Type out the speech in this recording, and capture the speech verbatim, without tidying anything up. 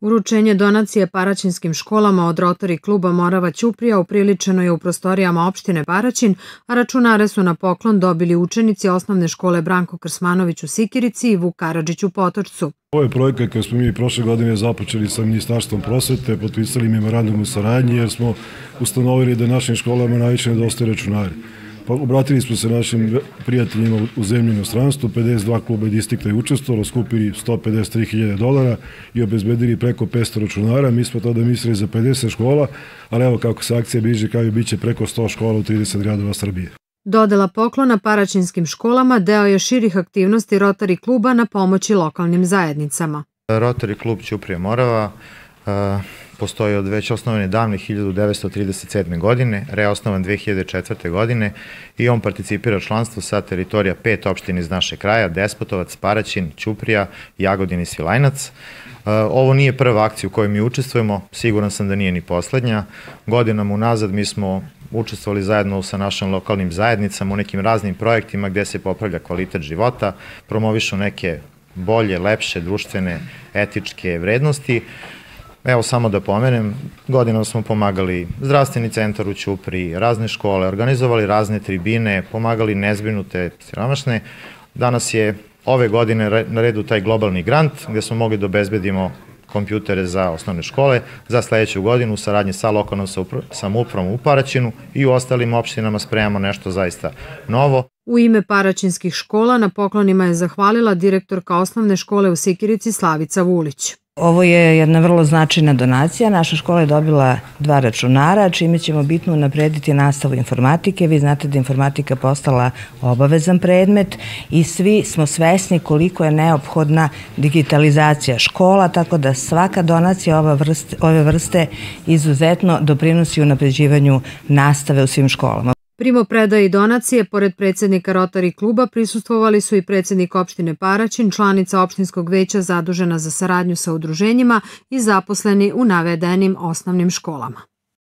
Uručenje donacije paraćinskim školama od Rotary kluba Morava Ćuprija upriličeno je u prostorijama opštine Paraćin, a računare su na poklon dobili učenici osnovne škole Branko Krsmanović u Sikirici i Vuk Karadžić u Potočcu. Ovo je projekat koji smo mi prošle godine započeli sa Ministarstvom prosvete, potpisali memorandum o saradnji jer smo ustanovili da našim školama najviše nedostaje računari. Obratili smo se našim prijateljima u zemlji i inostranstvu, pedeset dva kluba i distrikta je učestvovalo, skupili sto pedeset tri hiljade dolara i obezbedili preko petsto računara. Mi smo tada mislili za pedeset škola, ali evo kako se akcija bliži kraju, bit će preko sto škola u trideset gradova Srbije. Dodela poklona paraćinskim školama deo je širih aktivnosti Rotary kluba na pomoći lokalnim zajednicama. Rotary klub Ćuprija Morava postoji od već osnovan davne hiljadu devetsto trideset sedme. godine, reosnovan dve hiljade četvrte. godine i on participira članstvo sa teritorija pet opština iz naše kraja, Despotovac, Paraćin, Ćuprija, Jagodin i Svilajnac. Ovo nije prva akcija u kojoj mi učestvujemo, siguran sam da nije ni poslednja. Godinama unazad mi smo učestvovali zajedno sa našim lokalnim zajednicama u nekim raznim projektima gde se popravlja kvalitet života, promovišu neke bolje, lepše, društvene, etičke vrednosti. Evo samo da pomenem, godinama smo pomagali zdravstveni centar u Ćupriji, razne škole, organizovali razne tribine, pomagali nezbrinute, siromašne. Danas je ove godine na redu taj globalni grant gde smo mogli da obezbedimo kompjutere za osnovne škole za sledeću godinu u saradnji sa lokalnom samoupravom u Paraćinu i u ostalim opštinama spremamo nešto zaista novo. U ime paraćinskih škola na poklonima je zahvalila direktorka osnovne škole u Sikirici Slavica Vulić. Ovo je jedna vrlo značajna donacija. Naša škola je dobila dva računara, čime ćemo bitno unaprediti nastavu informatike. Vi znate da je informatika postala obavezan predmet i svi smo svesni koliko je neophodna digitalizacija škola, tako da svaka donacija ove vrste izuzetno doprinosi unapređivanju nastave u svim školama. Primopredaji donacije, pored predsjednika Rotary kluba, prisustvovali su i predsjednik opštine Paraćin, članica opštinskog veća zadužena za saradnju sa udruženjima i zaposleni u navedenim osnovnim školama.